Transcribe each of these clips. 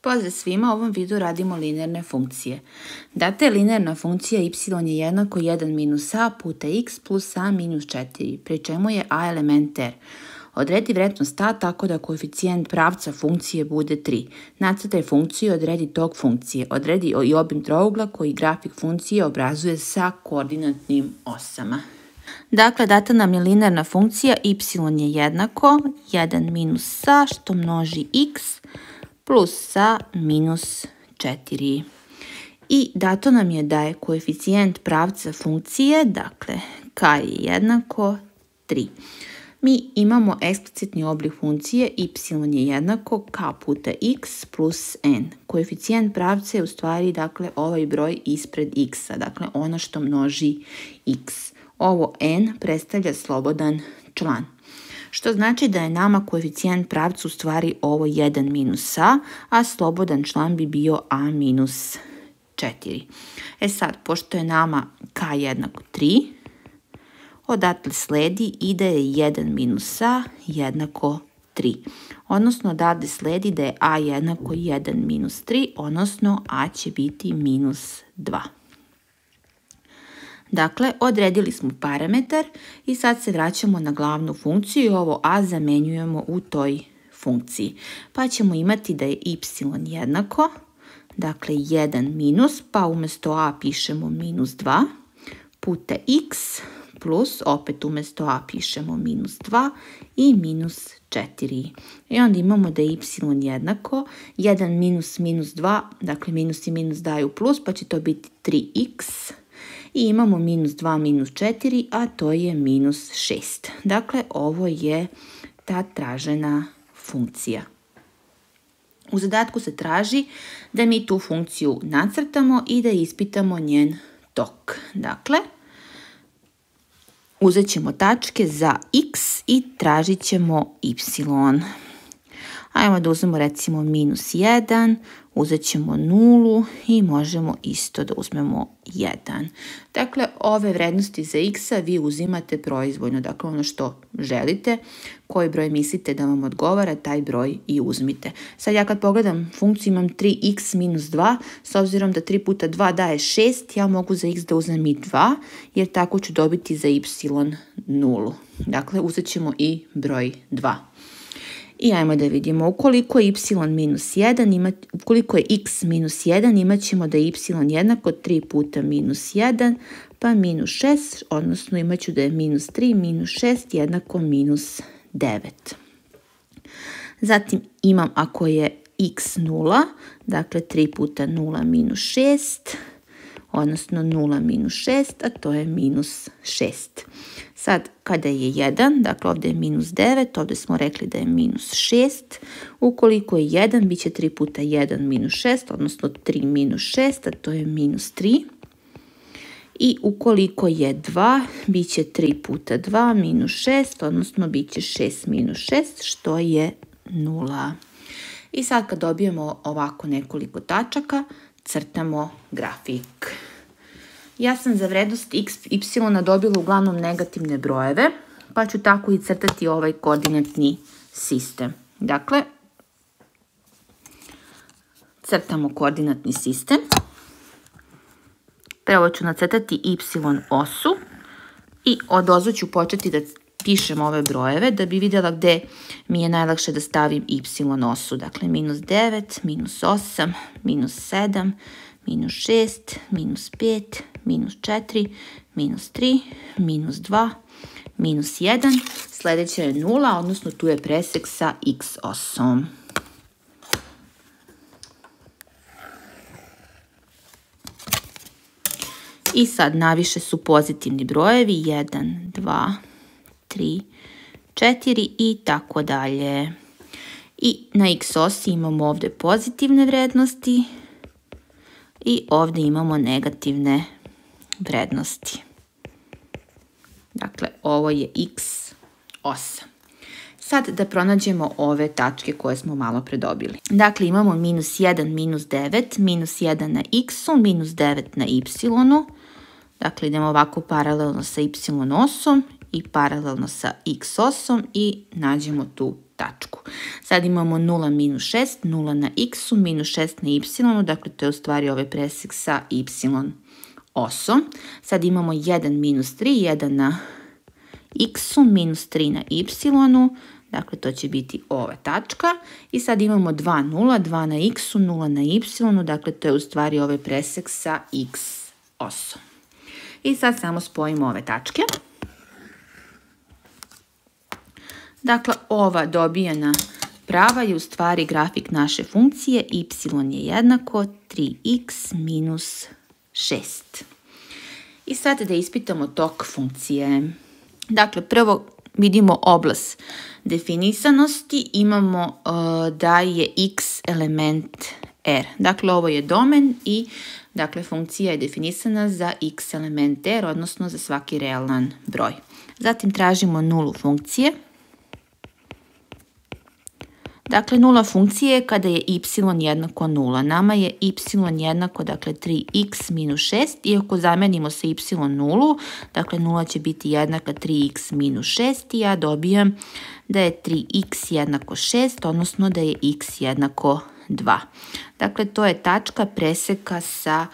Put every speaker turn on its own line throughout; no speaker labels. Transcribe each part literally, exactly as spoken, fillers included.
Pozdrav svima, u ovom videu radimo linearne funkcije. Data je linearna funkcija y je jednako jedan minus a puta x plus a minus četiri, pri čemu je a element r. Odredi vrednost a tako da koeficijent pravca funkcije bude tri. Nacrtaj funkciju i odredi tok funkcije. Odredi i obim trougla koji grafik funkcije obrazuje sa koordinatnim osama. Dakle, data nam je linearna funkcija y je jednako jedan minus a što množi x plus a minus četiri. I dato nam je da je koeficijent pravca funkcije, dakle, k je jednako tri. Mi imamo eksplicitni oblik funkcije y je jednako k puta x plus n. Koeficijent pravca je u stvari, dakle, ovaj broj ispred x-a, dakle, ono što množi x. Ovo n predstavlja slobodan član. Što znači da je nama koeficijent pravca u stvari ovo jedan minus a, a slobodan član bi bio a minus četiri. E sad, pošto je nama k jednako tri, odatle sledi i da je jedan minus a jednako tri. Odnosno, odatle sledi da je a jednako jedan minus tri, odnosno a će biti minus dva. Dakle, odredili smo parametar i sad se vraćamo na glavnu funkciju i ovo a zamenjujemo u toj funkciji. Pa ćemo imati da je y jednako, dakle jedan minus, pa umjesto a pišemo minus dva, puta x plus, opet umjesto a pišemo minus dva i minus četiri. I onda imamo da je y jednako, jedan minus minus dva, dakle minus i minus daju plus, pa će to biti tri x. I imamo minus dva minus četiri, a to je minus šest. Dakle, ovo je ta tražena funkcija. U zadatku se traži da mi tu funkciju nacrtamo i da ispitamo njen tok. Dakle, uzet ćemo tačke za x i tražit ćemo y. Ajmo da uzmemo recimo minus jedan, uzet ćemo nulu i možemo isto da uzmemo jedan. Dakle, ove vrednosti za x-a vi uzimate proizvoljno, dakle ono što želite, koji broj mislite da vam odgovara, taj broj i uzmite. Sad ja kad pogledam funkciju imam tri x minus dva, s obzirom da tri puta dva daje šest, ja mogu za x da uzmem i dva, jer tako ću dobiti za y nulu. Dakle, uzet ćemo i broj dva. I ajmo da vidimo, ukoliko je y minus jedan, ima, ukoliko je x minus jedan, imat ćemo da je y jednako tri puta minus jedan, pa minus šest, odnosno imat ću da je minus tri minus šest jednako minus devet. Zatim imam, ako je x nula, dakle tri puta nula minus šest, odnosno nula minus šest, a to je minus šest. Sad, kada je jedan, dakle ovdje je minus devet, ovdje smo rekli da je minus šest. Ukoliko je jedan, bit će tri puta jedan minus šest, odnosno tri minus šest, a to je minus tri. I ukoliko je dva, bit će tri puta dva minus šest, odnosno bit će šest minus šest, što je nula. I sad kad dobijemo ovako nekoliko tačaka, crtamo grafik. Ja sam za vrednost x, y dobila uglavnom negativne brojeve, pa ću tako i crtati ovaj koordinatni sistem. Dakle, crtamo koordinatni sistem. Prvo ću nacrtati y osu i odozdo ću početi da pišem ove brojeve da bi vidjela gde mi je najlakše da stavim y osu. Dakle, minus devet, minus osam, minus sedam, minus šest, minus pet, minus četiri, minus tri, minus dva, minus jedan. Sljedeća je nula, odnosno tu je presek sa x osom. I sad naviše su pozitivni brojevi, jedan, dva, tri, četiri i tako dalje. I na x osi imamo ovdje pozitivne vrednosti i ovdje imamo negativne vrednosti. Dakle, ovo je x osa. Sad da pronađemo ove tačke koje smo malo predobili. Dakle, imamo minus jedan, minus devet, minus jedan na x-u, minus devet na y-u. Dakle, idemo ovako paralelno sa y osom i paralelno sa x osom i nađemo tu tačku. Sad imamo nula minus šest, nula na x-u, minus šest na y-u, dakle to je u stvari ovaj presek sa y osom. Sad imamo jedan minus tri, jedan na x-u, minus tri na y-u, dakle to će biti ova tačka. I sad imamo dva, nula, dva na x-u, nula na y-u, dakle to je u stvari ovaj presek sa x osom. I sad samo spojimo ove tačke. Dakle, ova dobijena prava je u stvari grafik naše funkcije, y je jednako tri x minus šest. I sad da ispitamo tok funkcije. Dakle, prvo vidimo oblast definisanosti, imamo uh, da je x element r. Dakle, ovo je domen i dakle, funkcija je definisana za x element r, odnosno za svaki realan broj. Zatim tražimo nulu funkcije. Dakle, nula funkcije je kada je y jednako nula. Nama je y jednako, dakle, tri x minus šest. I ako zamenimo sa y nulu, dakle, nula će biti jednaka tri x minus šest i ja dobijam da je tri x jednako šest, odnosno da je x jednako dva. Dakle, to je tačka preseka sa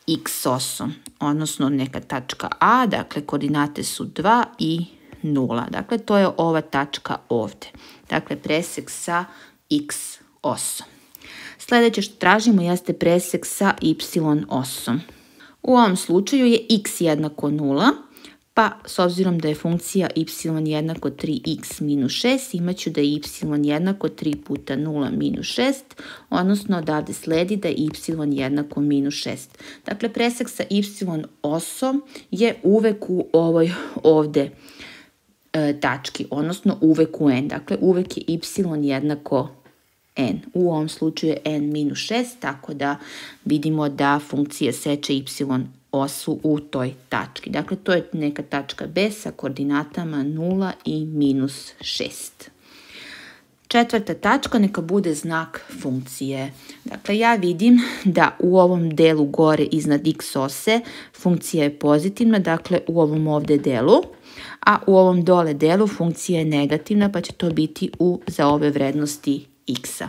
x osom, odnosno neka tačka A, dakle, koordinate su dva i nula. Dakle, to je ova tačka ovde. Dakle, presek sa x osom. Sljedeće što tražimo jeste presek sa y osom. U ovom slučaju je x jednako nula, pa s obzirom da je funkcija y jednako tri x minus šest, imat ću da je y jednako tri puta nula minus šest, odnosno odavde sledi da je y jednako minus šest. Dakle, presek sa y osom je uvek u ovoj ovde e, tački, odnosno uvek u n. Dakle, uvek je y jednako n. U ovom slučaju je n minus šest, tako da vidimo da funkcija seče y osu u toj tački. Dakle, to je neka tačka B sa koordinatama nula i minus šest. Četvrta tačka neka bude znak funkcije. Dakle, ja vidim da u ovom delu gore iznad x ose funkcija je pozitivna, dakle u ovom ovde delu, a u ovom dole delu funkcija je negativna, pa će to biti u, za ove vrednosti x-a.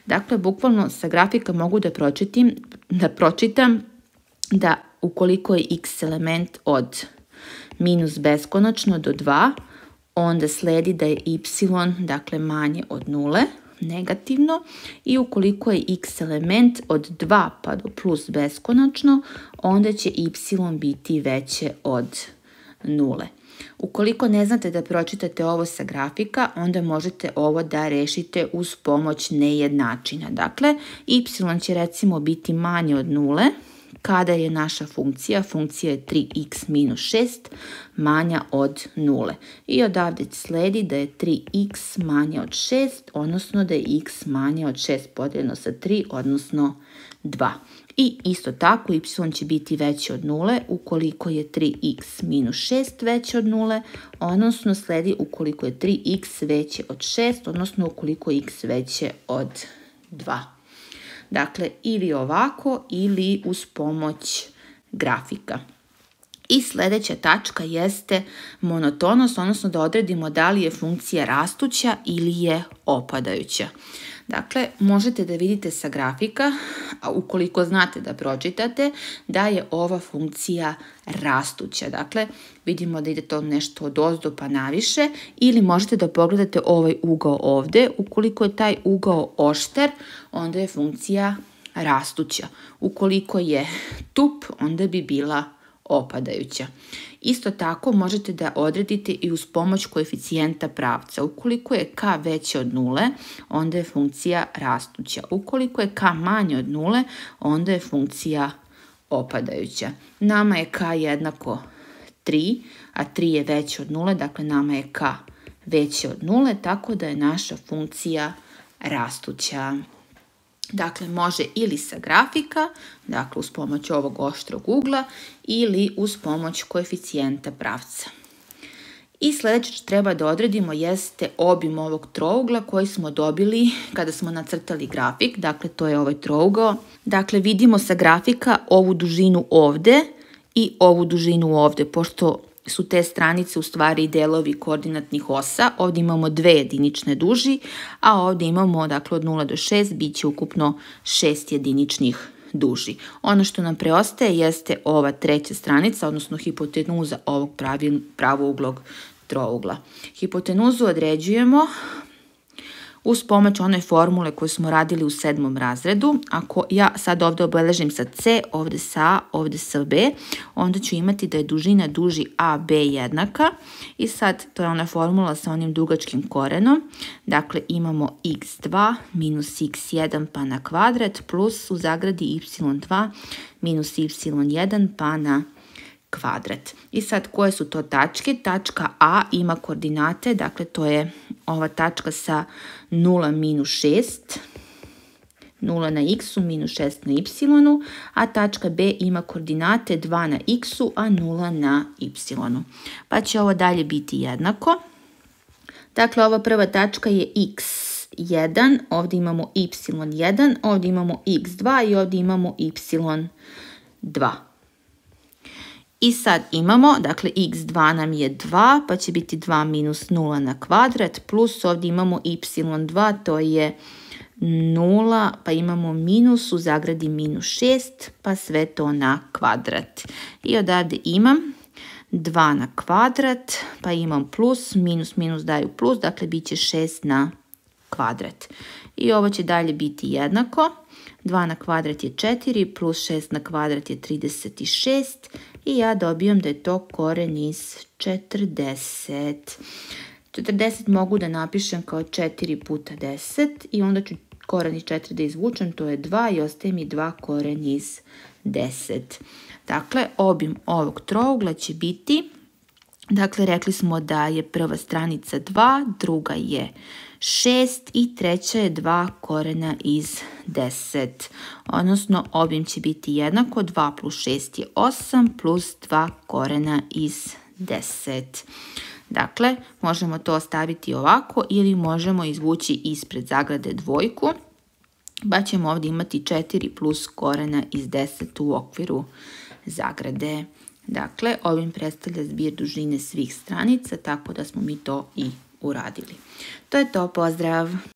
Dakle, bukvalno sa grafika mogu da pročitam, da pročitam da ukoliko je x element od minus beskonačno do dva, onda sledi da je y, dakle, manje od nule, negativno, i ukoliko je x element od dva pa do plus beskonačno, onda će y biti veće od nule. Ukoliko ne znate da pročitate ovo sa grafika, onda možete ovo da rešite uz pomoć nejednačina. Dakle, y će recimo biti manje od nule, kada je naša funkcija, funkcija je tri x minus šest, manja od nule. I odavde sledi da je tri x manje od šest, odnosno da je x manje od šest podijeljeno sa tri, odnosno dva. I isto tako, y će biti veći od nule ukoliko je tri x minus šest veće od nule, odnosno sledi ukoliko je tri x veće od šest, odnosno ukoliko je x veće od dva. Dakle, ili ovako ili uz pomoć grafika. I sljedeća tačka jeste monotonost, odnosno da odredimo da li je funkcija rastuća ili je opadajuća. Dakle, možete da vidite sa grafika, a ukoliko znate da pročitate, da je ova funkcija rastuća. Dakle, vidimo da ide to nešto od ozdo pa naviše, ili možete da pogledate ovaj ugao ovde. Ukoliko je taj ugao oštar, onda je funkcija rastuća. Ukoliko je tup, onda bi bila opadajuća. Isto tako možete da odredite i uz pomoć koeficijenta pravca. Ukoliko je k veće od nule, onda je funkcija rastuća. Ukoliko je k manje od nule, onda je funkcija opadajuća. Nama je k jednako tri, a tri je veće od nule, dakle nama je k veće od nule, tako da je naša funkcija rastuća. Dakle, može ili sa grafika, dakle uz pomoć ovog oštrog ugla, ili uz pomoć koeficijenta pravca. I sljedeće što treba da odredimo jeste obim ovog trougla koji smo dobili kada smo nacrtali grafik. Dakle, to je ovaj trougao. Dakle, vidimo sa grafika ovu dužinu ovde i ovu dužinu ovde, pošto su te stranice u stvari delovi koordinatnih osa. Ovdje imamo dve jedinične duži, a ovdje imamo, dakle, od nula do šest bit će ukupno šest jediničnih duži. Ono što nam preostaje jeste ova treća stranica, odnosno hipotenuza ovog pravouglog trougla. Hipotenuzu određujemo uz pomoć one formule koju smo radili u sedmom razredu. Ako ja sad ovdje obeležim sa C, ovdje sa A, ovdje sa B, onda ću imati da je dužina duži A B jednaka. I sad to je ona formula sa onim dugačkim korenom. Dakle, imamo x dva minus x jedan pa na kvadrat plus u zagradi y dva minus y jedan pa na kvadrat. I sad koje su to tačke? Tačka A ima koordinate, dakle to je ova tačka sa nula minus šest, nula na x-u minus šest na y-u, a tačka B ima koordinate dva na x-u, a nula na y-u. Pa će ovo dalje biti jednako. Dakle, ova prva tačka je x jedan, ovdje imamo y jedan, ovdje imamo x dva i ovdje imamo y dva. I sad imamo, dakle, x dva nam je dva, pa će biti dva minus nula na kvadrat, plus ovdje imamo y dva, to je nula, pa imamo minus u zagradi minus šest, pa sve to na kvadrat. I odavde imam dva na kvadrat, pa imam plus, minus, minus daju plus, dakle, bit će šest na kvadrat. I ovo će dalje biti jednako. dva na kvadrat je četiri, plus šest na kvadrat je trideset šest i ja dobijam da je to koren iz četrdeset. četrdeset mogu da napišem kao četiri puta deset i onda ću koren iz četiri da izvučem, to je dva i ostaje mi dva koren iz deset. Dakle, obim ovog trougla će biti, dakle, rekli smo da je prva stranica dva, druga je šest i treća je dva korena iz deset. Odnosno, obim će biti jednako, dva plus šest je osam plus dva korena iz deset. Dakle, možemo to ostaviti ovako ili možemo izvući ispred zagrade dvojku, pa ćemo ovdje imati četiri plus korena iz deset u okviru zagrade. Dakle, ovim predstavlja zbir dužine svih stranica, tako da smo mi to i uradili. To je to, pozdrav!